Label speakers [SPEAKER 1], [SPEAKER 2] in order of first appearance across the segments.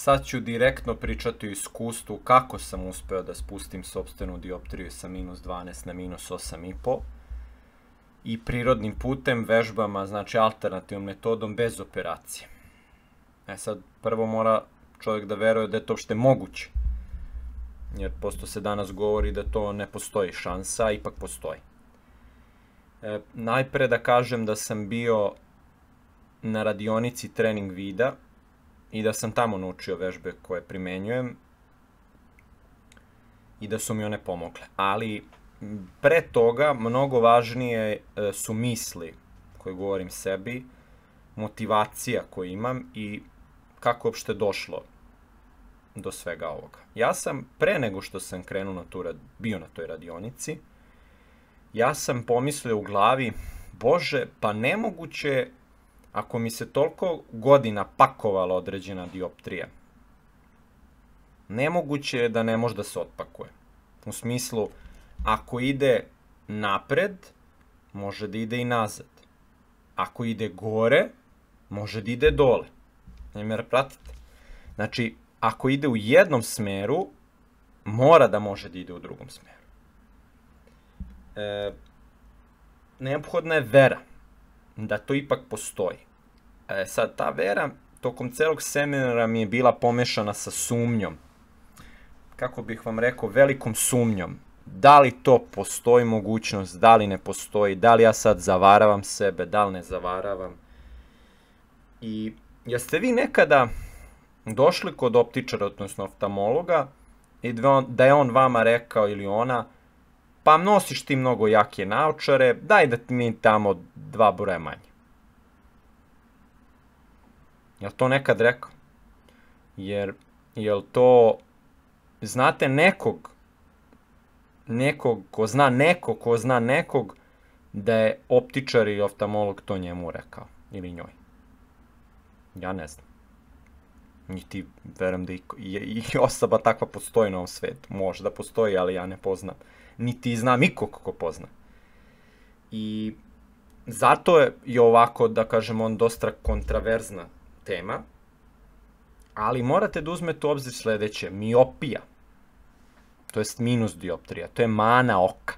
[SPEAKER 1] Sad ću direktno pričati o iskustvu kako sam uspeo da spustim sopstvenu dioptriju sa -12 na -8,5 i prirodnim putem, vežbama, znači alternativnom metodom bez operacije. Sad, prvo mora čovjek da veruje da je to uopšte moguće, jer posto se danas govori da to ne postoji šansa, a ipak postoji. Najpre da kažem da sam bio na radionici trening vida i da sam tamo naučio vežbe koje primenjujem i da su mi one pomogle. Ali pre toga mnogo važnije su misli koje govorim sebi, motivacija koju imam i kako uopšte došlo do svega ovoga. Ja sam, pre nego što sam krenuo bio na toj radionici, ja sam pomislio u glavi, Bože, pa nemoguće ako mi se toliko godina pakovala određena dioptrija. Nemoguće je da ne može da se otpakuje. U smislu, ako ide napred, može da ide i nazad. Ako ide gore, može da ide dole. Ne me pratite. Znači, ako ide u jednom smeru, mora da može da ide u drugom smeru. Neophodna je vera da to ipak postoji. Sad, ta vera tokom celog seminara mi je bila pomešana sa sumnjom. Kako bih vam rekao, velikom sumnjom. Da li to postoji mogućnost, da li ne postoji, da li ja sad zavaravam sebe, da li ne zavaravam. I jeste vi nekada došli kod optičara, odnosno oftalmologa, i da je on vama rekao ili ona, pa nosiš ti mnogo jake naočare, daj da mi tamo 2 broja manje. Jel to nekad rekao? Jel to, znate nekog ko zna nekog da je optičar i oftalmolog to njemu rekao ili njoj? Ja ne znam. Niti verujem da i osoba takva postoji na ovom svetu. Može da postoji, ali ja ne poznam. Niti znam ikog ko pozna. I zato je ovako, da kažem, on dosta kontraverzna tema, ali morate da uzmete u obzir sledeće. Miopija, to jest minus dioptrija, to je mana oka.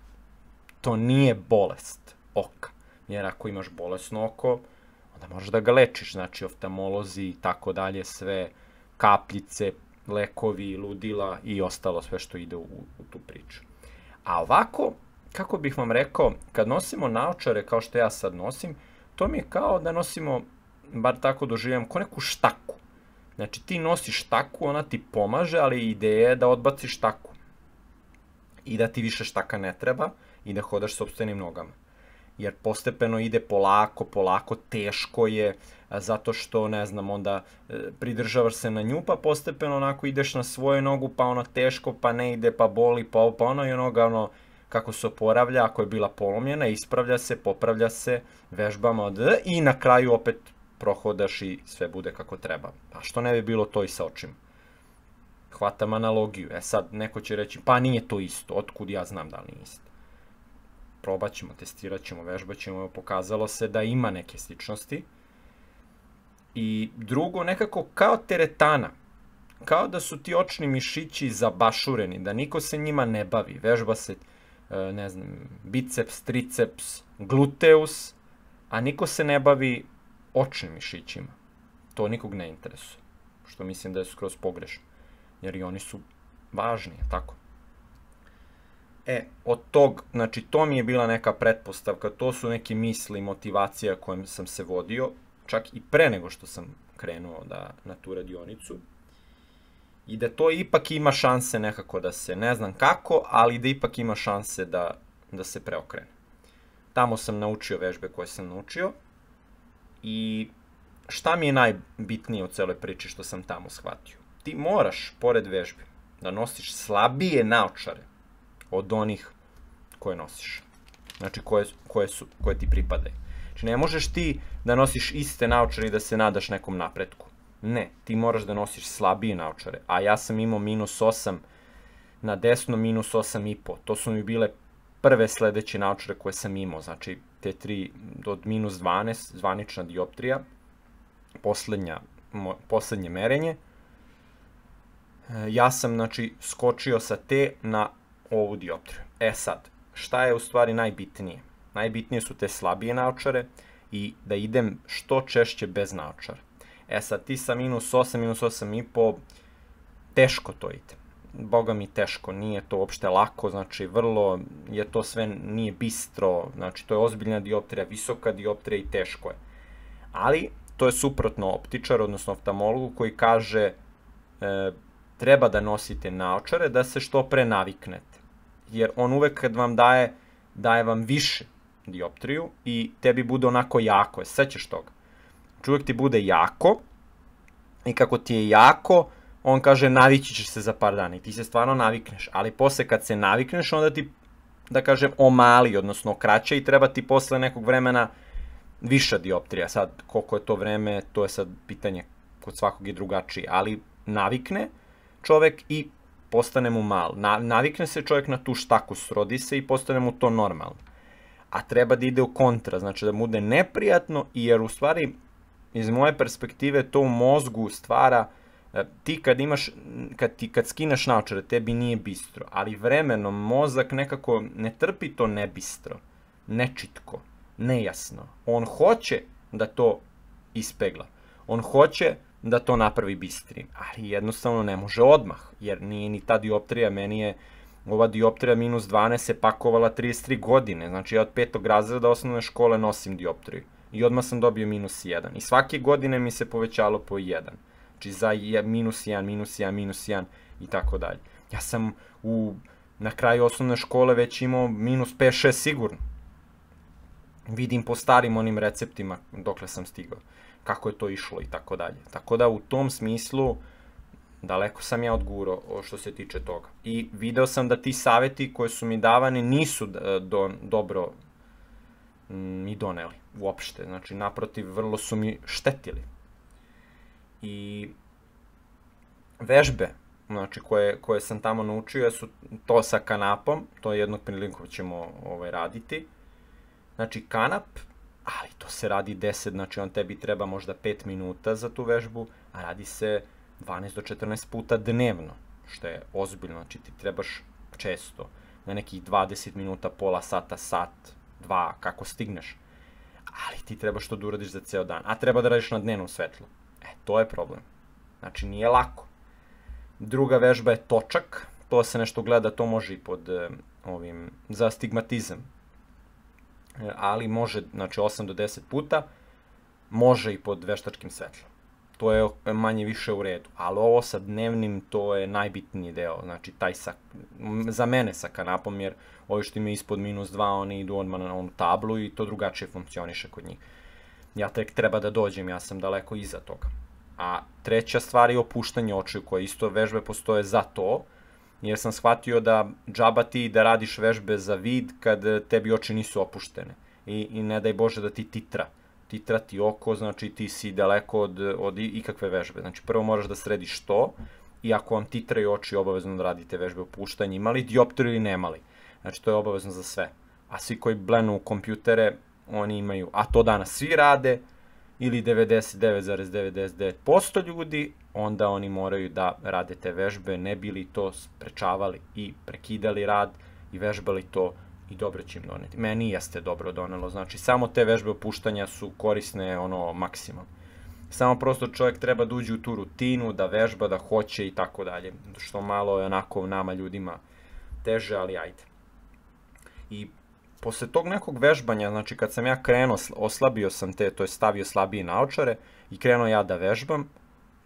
[SPEAKER 1] To nije bolest oka. Jer ako imaš bolesno oko, onda možeš da ga lečiš. Znači, oftalmolozi i tako dalje, sve kapljice, lekovi, ludila i ostalo sve što ide u tu priču. A ovako, kako bih vam rekao, kad nosimo naočare kao što ja sad nosim, to mi je kao da nosimo, bar tako doživljam, ko neku štaku. Znači ti nosiš štaku, ona ti pomaže, ali ideja je da odbaciš štaku. I da ti više štaka ne treba i da hodaš sopstvenim nogama. Jer postepeno ide polako, teško je, zato što, ne znam, onda pridržavaš se na nju, pa postepeno onako ideš na svoju nogu, pa ono teško, pa ne ide, pa boli, pa ono i onoga, kako se oporavlja, ako je bila polomljena, ispravlja se, popravlja se, vežbama, i na kraju opet prohodaš i sve bude kako treba. A što ne bi bilo to i sa očima? Hvatam analogiju. Sad, neko će reći, pa nije to isto, otkud ja znam da li nije isto. Probat ćemo, testirat ćemo, vežbat ćemo, pokazalo se da ima neke sličnosti. I drugo, nekako kao teretana, kao da su ti očni mišići zabašureni, da niko se njima ne bavi. Vežba se, ne znam, biceps, triceps, gluteus, a niko se ne bavi očnim mišićima. To nikog ne interesuje, što mislim da je skroz pogrešno, jer i oni su važni, tako? Od tog, znači to mi je bila neka pretpostavka, to su neke misli, motivacija kojom sam se vodio, čak i pre nego što sam krenuo na tu radionicu, i da to ipak ima šanse nekako da se, ne znam kako, ali da ipak ima šanse da se preokrene. Tamo sam naučio vežbe koje sam naučio i šta mi je najbitnije u celoj priči što sam tamo shvatio? Ti moraš, pored vežbi, da nosiš slabije naočare od onih koje nosiš. Znači, koje ti pripadaju. Znači, ne možeš ti da nosiš iste naočare i da se nadaš nekom napretku. Ne, ti moraš da nosiš slabije naočare. A ja sam imao -8 na desno, -8,5. To su mi bile prve sledeće naočare koje sam imao. Znači, te 3 od -12, zvanična dioptrija, poslednje merenje. Ja sam, znači, skočio sa te na ovu dioptriju. Sad, šta je u stvari najbitnije? Najbitnije su te slabije naočare i da idem što češće bez naočara. Sad, ti sa -8, -8,5, teško to ide. Boga mi teško, nije to uopšte lako, znači vrlo je to sve, nije bistro, znači to je ozbiljna dioptrija, visoka dioptrija i teško je. Ali, to je suprotno optičar, odnosno oftalmologu koji kaže treba da nosite naočare da se što pre naviknete. Jer on uvek kad vam daje vam više dioptriju i tebi bude onako jako, sećaš toga. Uvek ti bude jako i kako ti je jako, on kaže navići ćeš se za par dana i ti se stvarno navikneš, ali posle kad se navikneš onda ti, da kažem, omali, odnosno kraće i treba ti posle nekog vremena viša dioptrija. Sad, koliko je to vreme, to je sad pitanje kod svakog je drugačije, ali navikne čovek i postane mu mal. Navikne se čovek na tu štaku, srodi se i postane mu to normalno. A treba da ide u kontra, znači da mu bude neprijatno, jer u stvari, iz moje perspektive, to u mozgu stvara, ti kad skineš naočare, tebi nije bistro, ali vremenom mozak nekako ne trpi to nebistro, nečitko, nejasno. On hoće da to ispegla. On hoće da to napravi bistrim, ali jednostavno ne može odmah, jer nije ni ta dioptrija, meni je ova dioptrija -12 se pakovala 33 godine, znači ja od 5. razreda osnovne škole nosim dioptriju i odmah sam dobio -1 i svake godine mi se povećalo po 1, znači za -1, -1 i tako dalje. Ja sam na kraju osnovne škole već imao -5, -6 sigurno. Vidim po starim onim receptima dokle sam stigao, kako je to išlo i tako dalje. Tako da u tom smislu daleko sam ja odgurao što se tiče toga. I video sam da ti saveti koji su mi davani nisu dobro mi doneli uopšte. Znači, naprotiv, vrlo su mi štetili. I vežbe, znači, koje sam tamo naučio su to sa kanapom, to je jednog prilikom ćemo raditi. Znači, kanap, ali to se radi 10, znači on tebi treba možda 5 minuta za tu vežbu, a radi se 12 do 14 puta dnevno, što je ozbiljno, znači ti trebaš često, na nekih 20 minuta, pola sata, sat, 2, kako stigneš, ali ti trebaš to da uradiš za ceo dan, a treba da radiš na dnevnom svetlu. To je problem, znači nije lako. Druga vežba je točak, to se nešto gleda, to može i pod za astigmatizam, ali može, znači 8 do 10 puta, može i pod veštačkim svetlom. To je manje više u redu, ali ovo sa dnevnim, to je najbitniji deo, znači taj za mene sa kanapom, jer ovi što imaju ispod -2, oni idu odmah na onu tablu i to drugačije funkcioniše kod njih. Ja tek treba da dođem, ja sam daleko iza toga. A treća stvar je opuštanje očiju, koje isto vežbe postoje za to, jer sam shvatio da džaba ti da radiš vežbe za vid kad tebi oči nisu opuštene i ne daj Bože da ti titra ti oko, znači ti si daleko od ikakve vežbe. Znači prvo moraš da središ to i ako vam titraju oči, obavezno da radite vežbe opuštanja, imali dioptriju ili nemali. Znači to je obavezno za sve. A svi koji blenu kompjutere, oni imaju, a to danas svi rade, ili 99,99% ljudi, onda oni moraju da rade te vežbe, ne bi li to sprečavali i prekidali rad i vežbali to i dobro će im doneti. Meni jeste dobro donelo, znači samo te vežbe opuštanja su korisne maksimalno. Samo prosto čovjek treba da uđe u tu rutinu, da vežba, da hoće i tako dalje, što malo je onako nama ljudima teže, ali ajde. I posle tog nekog vežbanja, znači kad sam ja krenuo, oslabio sam to je stavio slabije naočare i krenuo ja da vežbam,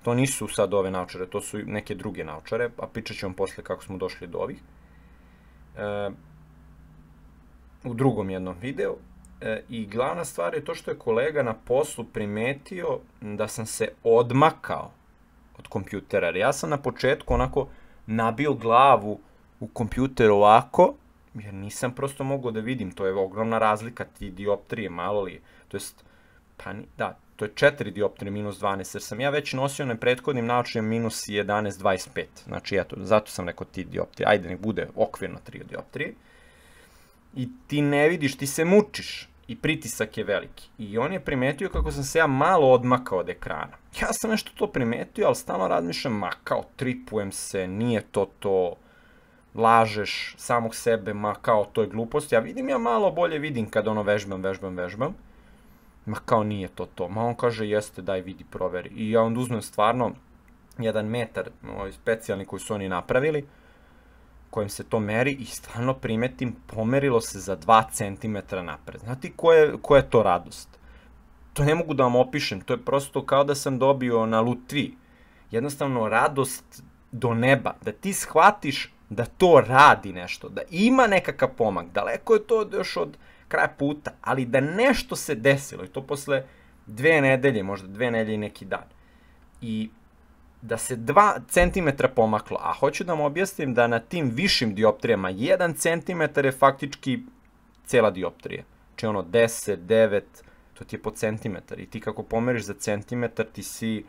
[SPEAKER 1] to nisu sad ove naočare, to su neke druge naočare, a pričat ću vam posle kako smo došli do ovih, u drugom jednom videu. I glavna stvar je to što je kolega na poslu primetio da sam se odmakao od kompjutera, jer ja sam na početku onako nabio glavu u kompjuter ovako, jer nisam prosto mogao da vidim, to je ogromna razlika, ti dioptrije, malo li je, to jest, pa da, to je 4 dioptrije -12, jer sam ja već nosio na prethodnim naočarima -11,25, znači eto, zato sam rekao ti dioptrije, ajde nek bude okvirno 3 dioptrije, i ti ne vidiš, ti se mučiš, i pritisak je veliki. I on je primetio kako sam se ja malo odmakao od ekrana. Ja sam nešto to primetio, ali stalno razmišljam, ma kao tripujem se, nije to, lažeš samog sebe, ma kao to je glupost. Ja malo bolje vidim kad ono vežbam. Ma kao nije to. Ma on kaže jeste, daj vidi, proveri. I ja onda uzmem stvarno 1 metar, specijalni koji su oni napravili, kojim se to meri i stvarno primetim, pomerilo se za 2 cm napred. Znate koja je to radost? To ne mogu da vam opišem, to je prosto kao da sam dobio na lutvi. Jednostavno radost do neba, da ti shvatiš da to radi nešto, da ima nekakav pomak, daleko je to još od kraja puta, ali da nešto se desilo i to posle 2 nedelje, možda 2 nedelje i neki dan. I da se 2 cm pomaklo, a hoću da vam objasnim da na tim višim dioptrijama 1 cm je faktički cela dioptrija. Znači ono 10, 9, to ti je po centimetar i ti kako pomeriš za centimetar ti si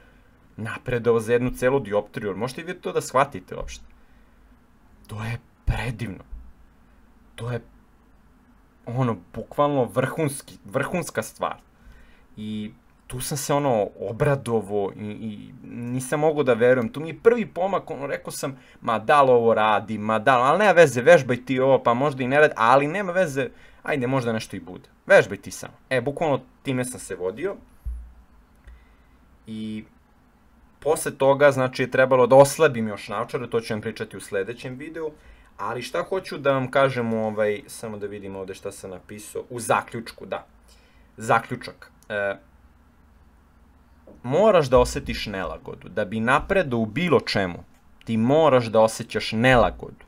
[SPEAKER 1] napredao za jednu celu dioptriju. Možete i vi to da shvatite uopšte. To je predivno. To je ono, bukvalno vrhunska stvar. I tu sam se ono obradovo i nisam mogao da verujem. Tu mi je prvi pomak, ono, rekao sam, ma da li ovo radi, ali nema veze, vežbaj ti ovo, pa možda i ne radi, ali nema veze, ajde, možda nešto i bude. Vežbaj ti samo. Bukvalno time sam se vodio. I posle toga, znači, je trebalo da oslabim još naočare, to ću vam pričati u sledećem videu, ali šta hoću da vam kažem, samo da vidim ovde šta sam napisao, u zaključku, da. Zaključak. Moraš da osetiš nelagodu. Da bi napredao u bilo čemu, ti moraš da osjećaš nelagodu.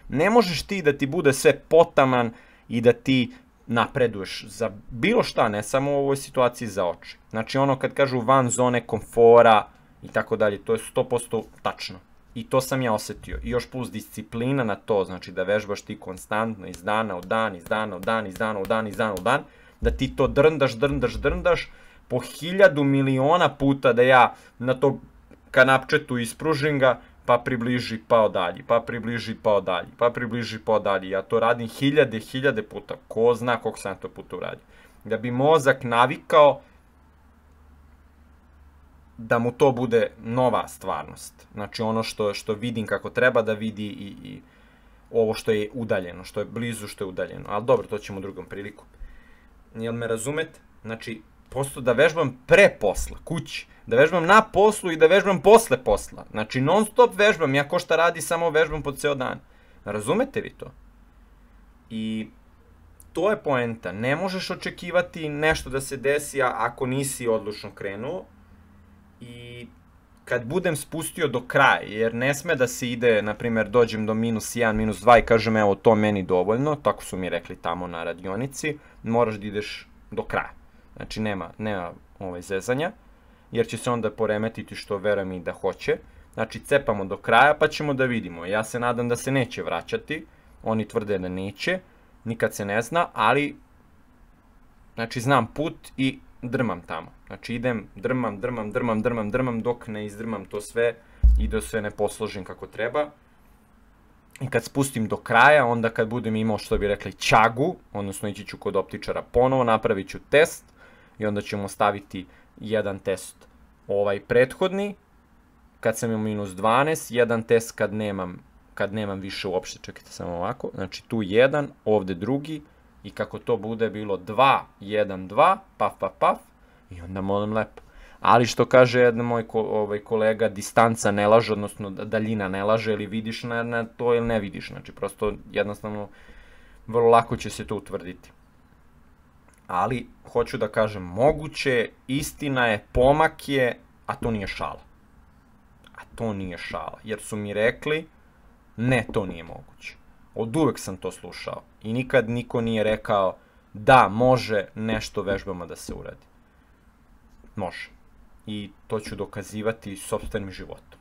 [SPEAKER 1] Ne možeš ti da ti bude sve potaman i da ti napreduješ za bilo šta, ne samo u ovoj situaciji za oči. Znači ono kad kažu van zone komfora i tako dalje, to je 100% tačno. I to sam ja osetio. I još plus disciplina na to, znači da vežbaš ti konstantno iz dana u dan, da ti to drndaš, po 1000 miliona puta da ja na to kanapčetu ispružim ga, pa približi, pa odalji, pa približi, pa odalji. Ja to radim 1000 puta, ko zna koliko sam to puta uradio. Da bi mozak navikao da mu to bude nova stvarnost. Znači ono što vidim kako treba da vidi i ovo što je udaljeno, što je blizu, što je udaljeno. Ali dobro, to ćemo u drugom priliku. Jel me razumete? Znači, prosto da vežbam pre posla, kući, da vežbam na poslu i da vežbam posle posla. Znači, non stop vežbam, ja ko šta radi, samo vežbam po ceo dan. Razumete vi to? I to je poenta. Ne možeš očekivati nešto da se desi ako nisi odlučno krenuo. I kad budem spustio do kraja, jer ne sme da se ide, na primjer, dođem do -1, -2 i kažem, evo, to meni dovoljno, tako su mi rekli tamo na radionici, moraš da ideš do kraja. Znači, nema zezanja, jer će se onda poremetiti, što verujem i da hoće. Znači, cepamo do kraja, pa ćemo da vidimo. Ja se nadam da se neće vraćati, oni tvrde da neće, nikad se ne zna, ali, znači, znam put i drmam tamo. Znači, idem, drmam, dok ne izdrmam to sve i da sve ne posložim kako treba. I kad spustim do kraja, onda kad budem imao, što bi rekli, ćagu, odnosno ići ću kod optičara ponovo, napravit ću test i onda ćemo staviti jedan test prethodni, kad sam imao -12, jedan test kad nemam više uopšte, čekajte samo ovako, znači tu jedan, ovde drugi, i kako to bude bilo 2, 1, 2, paf, i onda molim lepo. Ali što kaže jedan moj kolega, distanca ne laže, odnosno daljina ne laže, ili vidiš na to ili ne vidiš. Znači, prosto jednostavno vrlo lako će se to utvrditi. Ali, hoću da kažem, moguće, istina je, pomak je, a to nije šala. Jer su mi rekli, ne, to nije moguće. Od uvek sam to slušao i nikad niko nije rekao da može nešto vežbama da se uradi. Može. I to ću dokazivati sopstvenim životom.